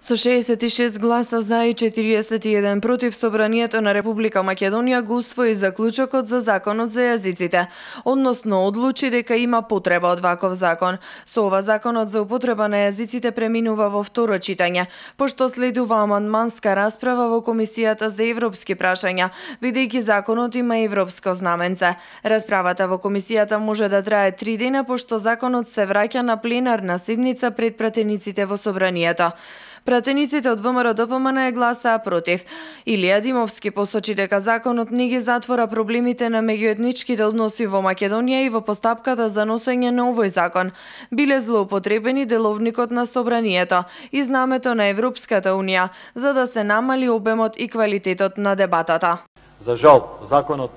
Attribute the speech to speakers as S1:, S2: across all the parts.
S1: Со 66 гласа за и 41 против, Собранието на Република Македонија го усвои заклучокот за законот за јазиците, односно одлучи дека има потреба од ваков закон. Со ова законот за употреба на јазиците преминува во второ читање, пошто следува амандманска расправа во Комисијата за европски прашања, бидејќи законот има европско знаменце. Расправата во комисијата може да трае 3 дена, пошто законот се враќа на пленарна седница пред пратениците во Собранието. Пратениците од ВМРО-ДПМН гласаа против. Илија Димовски посочи дека законот не ги затвора проблемите на меѓуетничките односи во Македонија и во постапката за носење на овој закон биле злоупотребени деловникот на Собранието и знамето на Европската Унија за да се намали обемот и квалитетот на дебатата.
S2: За жал, законот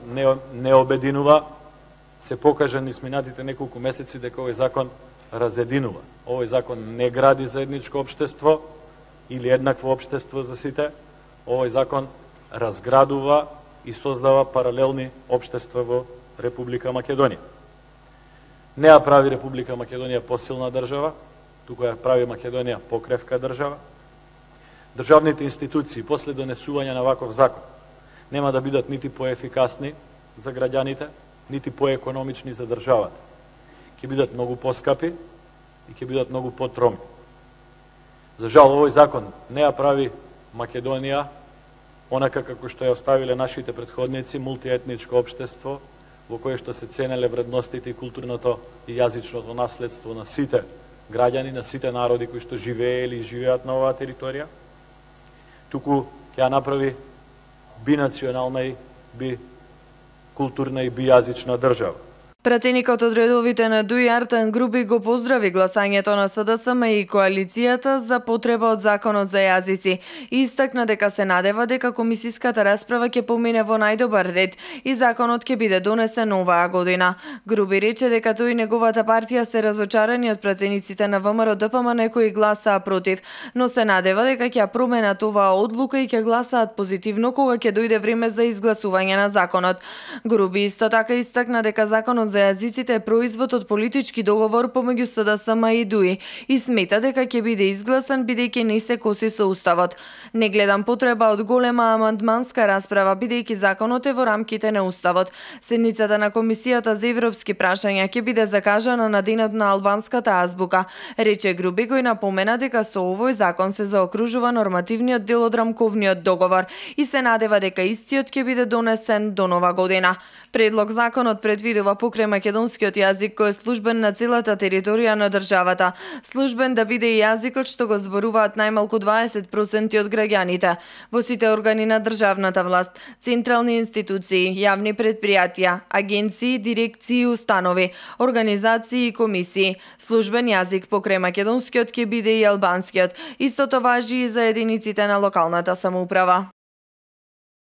S2: не обединува. Се покажа низ минатите неколку месеци дека овој закон разединува. Овој закон не гради заедничко општество или еднакво општество за сите. Овој закон разградува и создава паралелни општества во Република Македонија. Не ја прави Република Македонија посилна држава, туку ја прави Македонија покревка држава. Државните институции после донесување на ваков закон нема да бидат нити поефикасни за граѓаните, нити поекономични за државата. Ќе бидат многу поскапи и ќе бидат многу потромни. За жал, овој закон не ја прави Македонија онака како што ја оставиле нашите претходници, мултиетничко општество во кое што се ценеле вредностите и културното и јазичното наследство на сите граѓани, на сите народи кои што живееле и живеат на оваа територија, туку ќе ја направи бинационална и бикултурна и бијазична држава.
S1: Пратеникот од редовите на ДУИ Артан Груби го поздрави гласањето на СДСМ и коалицијата за потреба од законот за јазици и истакна дека се надева дека комисиската расправа ќе помине во најдобар ред и законот ќе биде донесен оваа година. Груби рече дека тој и неговата партија се разочарани од пратениците на ВМРО-ДПМН кои гласаа против, но се надева дека ќе променат оваа одлука и ќе гласаат позитивно кога ќе дојде време за изгласување на законот. Груби исто така истакна дека законот за јазиците е производ од политички договор помеѓу СДСМ и ДУИ и смета дека ќе биде изгласан бидејќи не се коси со уставот. Не гледам потреба од голема амандманска расправа бидејќи законот е во рамките на уставот. Седницата на Комисијата за европски прашања ќе биде закажана на денот на албанската азбука, рече Груби, кој напомена дека со овој закон се заокружува нормативниот дел од рамковниот договор и се надева дека истиот ќе биде донесен до нова година. Предлог законот предвидува покрај македонскиот јазик кој е службен на целата територија на државата, службен да биде и јазикот што го зборуваат најмалку 20% од граѓаните во сите органи на државната власт, централни институции, јавни предпријатија, агенции, дирекции и установи, организации и комисии. Службен јазик покрај македонскиот ќе биде и албанскиот. Истото важи и за единиците на локалната самоуправа.